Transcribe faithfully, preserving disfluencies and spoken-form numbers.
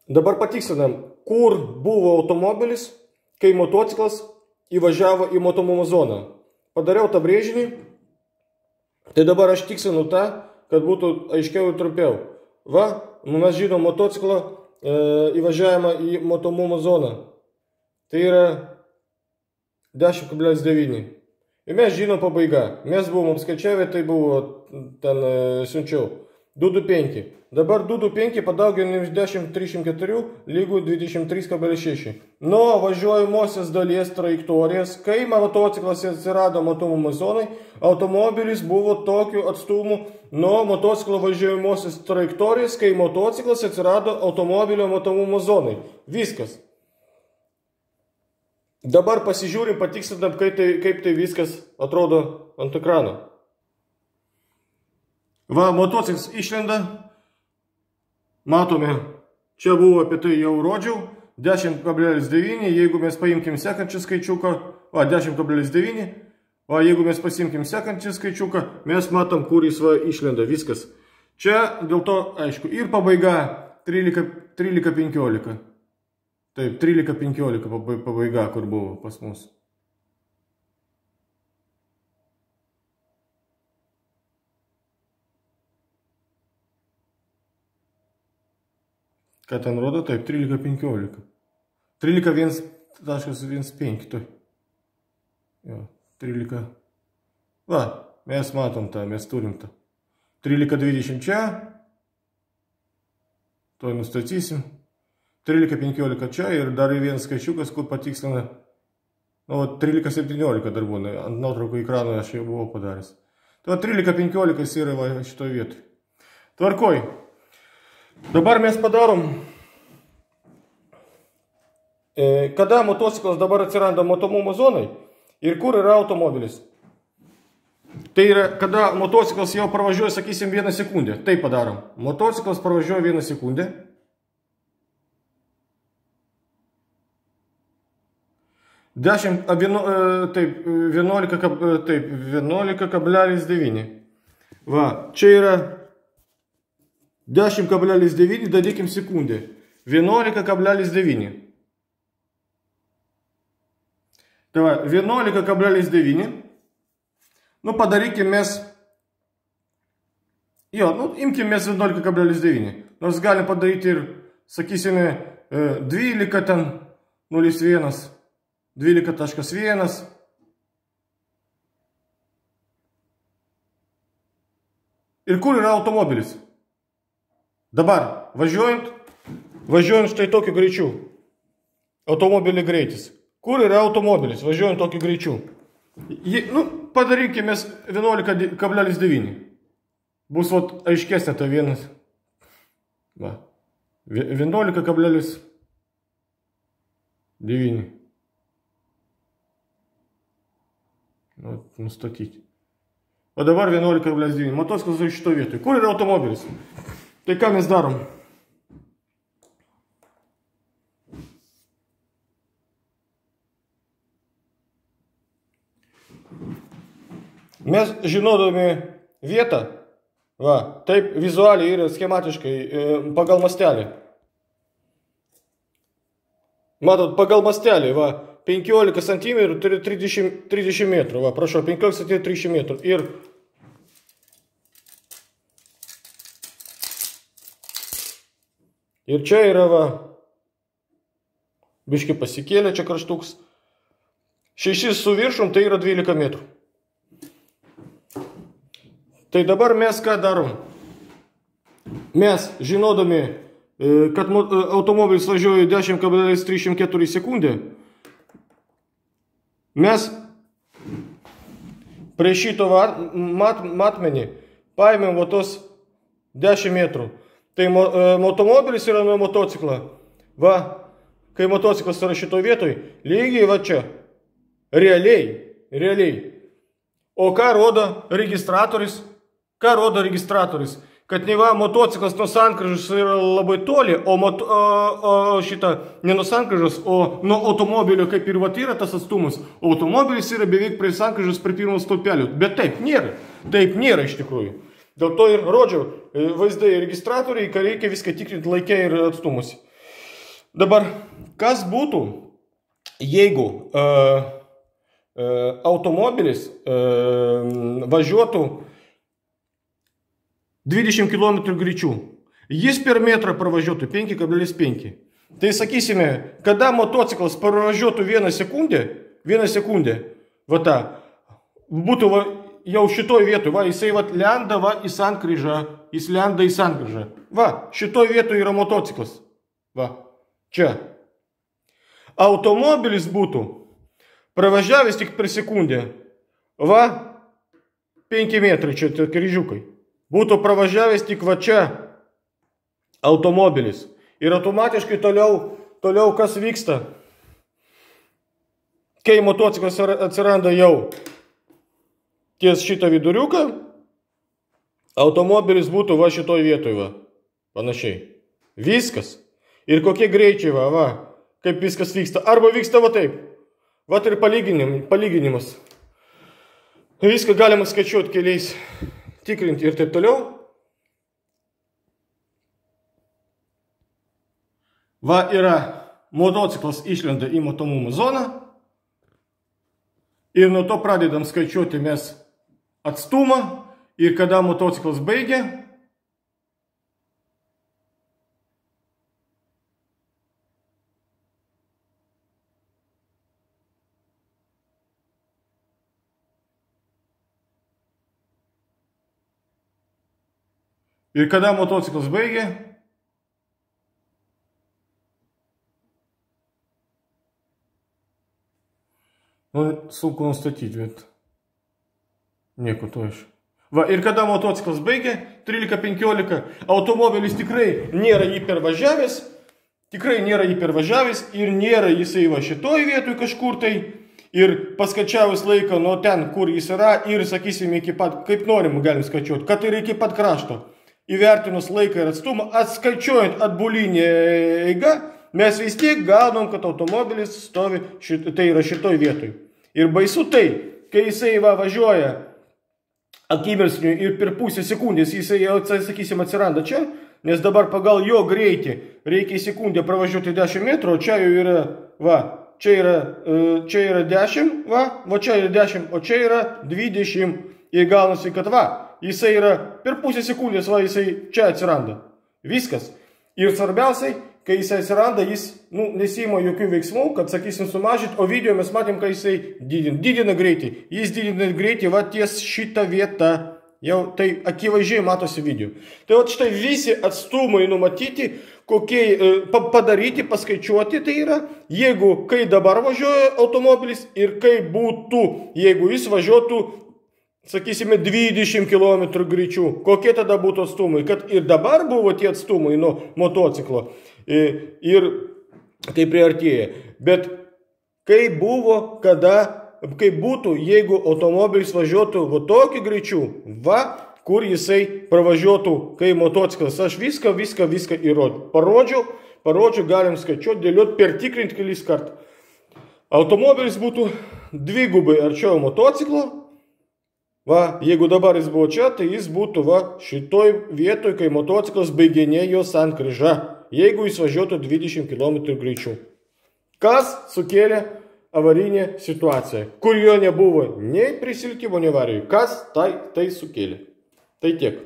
Dabar patikslinam, kur buvo automobilis, kai motociklas įvažiavo į matomumo zoną. Padariau tą brėžinį, tai dabar aš tikslinu tą, kad būtų aiškiau ir trumpiau. Va, mes žinom motociklo e, įvažiavimą į matomumo zoną. Tai yra dešimt kablelis devyni. Ir mes žinom pabaiga. Mes buvom apskaičiavę, tai buvo ten e, siunčiau. du du penki. Dabar du du penki padauginam iš dešimt trisdešimt keturi lygų dvidešimt trys kablelis šeši. Nuo važiuojamosios dalies trajektorijos, kai motociklas atsirado matomumo zonai, automobilis buvo tokiu atstumu nuo motociklo važiuojamosios trajektorijos, kai motociklas atsirado automobilio matomumo zonai. Viskas. Dabar pasižiūrim, patikslinam, kaip tai, kaip tai viskas atrodo ant ekrano. Va, motociklas išlenda. Matome, čia buvo apie tai jau rodžiau. dešimt kablelis devyni, jeigu mes paimkim sekančią skaičiuką. Va, dešimt kablelis devyni. Va, jeigu mes pasimkim sekančią skaičiuką, mes matom, kur jis va išlenda. Viskas. Čia dėl to, aišku, ir pabaiga trylika penkiolika. Taip, trylika penkiolika pabaiga, kur buvo pas mus. Ką ten rodo? Taip, trylika penkiolika. trylika vienas penki. Tai. Jo, trylika. Va, mes matom tą, mes turim tą. trylika dvidešimt čia. To nustatysim. trylika penkiolika čia ir dar vienas skaičiukas, kur patikslina. Nu, trylika septyniolika dar būna. Ant nuotraukų ekrano aš jau buvau padaręs. Tai trylika penkiolika yra va, šitoje vietoje. Tvarkoj. Dabar mes padarom, e, kada motociklas dabar atsiranda matomumo zonai ir kur yra automobilis. Tai yra, kada motociklas jau pravažiuoja, sakysim, vieną sekundę. Tai padarom. Motociklas pravažiuoja vieną sekundę. dešimt, vieno, taip, vienuolika, taip, vienuolika kablelis devyni. Va, čia yra dešimt kablelis devyni, darykim sekundę. vienuolika kablelis devyni. Tai va, vienuolika kablelis devyni. Nu, padarykim mes. Jo, nu, imkim mes vienuolika kablelis devyni. Nors galim padaryti ir, sakysime, dvylika ten, nulis vienas. dvylika taškas vienas. Ir kur yra automobilis? Dabar, važiuojant, važiuojant štai tokiu greičiu. Automobilį greitis. Kur yra automobilis, važiuojant tokiu greičiu? Jį, nu, padarykime vienuolika kablelis devyni. Bus vat, aiškesnė ta vienas. Va. vienuolika kablelis devyni. Nu, nustatyti. O dabar vienuolika kablelis devyni. Motociklas yra šito vietoje. Kur yra automobilis? Tai ką mes darom? Mes žinodami vietą, va, taip vizualiai ir schematiškai pagal mastelį. Matot, pagal mastelį, va, penkiolika centimetrų, trisdešimt, trisdešimt metrų, va, prašau, penkiolika centimetrų, trisdešimt metrų. Ir Ir čia yra, va, biški pasikėlė, čia kraštuks. Šešis su viršum, tai yra dvylika metrų. Tai dabar mes ką darom? Mes, žinodami, kad automobilis važiuoja dešimt kablelis trisdešimt keturi sekundę, mes prie šito mat, matmenį paėmėm va tos dešimt metrų. Tai automobilis yra nuo motociklo. Va, kai motociklas yra šitoje vietoje, lygiai va čia. Realiai, realiai. O ką rodo registratorius? Ką rodo registratorius? Kad ne va, motociklas nuo sankryžos yra labai toli, o, moto, o, o šitą ne nuo sankryžos, o nuo automobilio, kaip ir va yra tas atstumas. Automobilis yra beveik prie sankryžos, prie pirmo stulpelio. Bet taip nėra. Taip nėra iš tikrųjų. Dėl to ir rodžiau vaizdai registratoriai, kad reikia viską tikrinti laikę ir atstumus. Dabar, kas būtų, jeigu uh, uh, automobilis uh, važiuotų dvidešimt kilometrų greičiu. Jis per metrą pravažiuotų penki kablelis penki. Tai sakysime, kada motociklas pravažiuotų vieną sekundę, vieną sekundę, va ta, būtų va, jau šitoj vietoj, va, jisai va, lenda va, į sankryžą, jis lenda į sankryžą. Va, šitoj vietoj yra motociklas. Va, čia. Automobilis būtų pravažiavęs tik per sekundę. Va, penki metrai čia kryžiukai. Būtų pravažiavęs tik va čia automobilis. Ir automatiškai toliau, toliau kas vyksta. Kai motociklas atsiranda jau ties šitą viduriuką, automobilis būtų va šitoj vietoj, va, panašiai. Viskas. Ir kokie greičiai, va, va, kaip viskas vyksta. Arba vyksta va taip. Va ir palyginim, palyginimas. Viską galima skaičiuoti keliais, tikrinti ir taip toliau. Va yra motociklas išlenda į matomumo zoną. Ir nuo to pradedam skaičiuoti mes atstumą. Ir kada motociklas baigia, ir kada motociklas baigia, nu, sunku nustatyti, bet nieko to iš. Va, ir kada motociklas baigia, trylika penkiolika, automobilis tikrai nėra jį pervažiavęs, tikrai nėra jį pervažiavęs ir nėra jisai va šitoj vietoj kažkur tai. Ir paskaičiavus laiką nuo ten, kur jis yra, ir sakysime, iki pat, kaip norim galim skaičiuoti, kad ir iki pat krašto. Įvertinus laiką ir atstumą, atskaičiuojant atbulinę eigą, mes vis tiek gaunam, kad automobilis stovi, šit, tai yra šitoj vietoj. Ir baisu tai, kai jisai va, važiuoja akimirksniu ir per pusę sekundės jisai jau, sakysim, atsiranda čia, nes dabar pagal jo greitį reikia į sekundę pravažiuoti dešimt metrų, o čia jau yra, va, čia yra, čia yra dešimt, va, va čia yra dešimt, o čia yra dvidešimt. Ir gaunasi, kad va, jisai yra per pusę sekundės, va, jisai čia atsiranda. Viskas. Ir svarbiausiai, kai jisai atsiranda, jis, nu, nesima jokių veiksmų, kad, sakysim, sumažint, o video mes matėm, kai jisai didina, didina greitį. Jis didina greitį, va, ties šitą vietą. Jau tai akivaizdžiai matosi video. Tai va, štai visi atstumai numatyti, kokie padaryti, paskaičiuoti tai yra, jeigu, kai dabar važiuoja automobilis ir kai būtų, jeigu jis važiuotų, sakysime, dvidešimt kilometrų greičių. Kokie tada būtų atstumai? Kad ir dabar buvo tie atstumai nuo motociklo. Ir kai priartėja. Bet kai buvo, kada, kai būtų, jeigu automobilis važiuotų va tokį greičių, va, kur jisai pravažiuotų, kai motociklas. Aš viską, viską, viską įrodžiu. Parodžiau, parodžiau, galim skaičiuoti, dėlioti, pertikrinti kelis kartų. Automobilis būtų dvigubai arčiau motociklo. Va, jeigu dabar jis buvo čia, tai jis būtų va šitoj vietoj, kai motociklas baiginėjo sankryžą, jeigu jis važiuotų dvidešimt kilometrų greičiu. Kas sukėlė avarinę situaciją, kur jo nebuvo nei prisiltimo, nei avarijų. Kas tai, tai sukėlė? Tai tiek.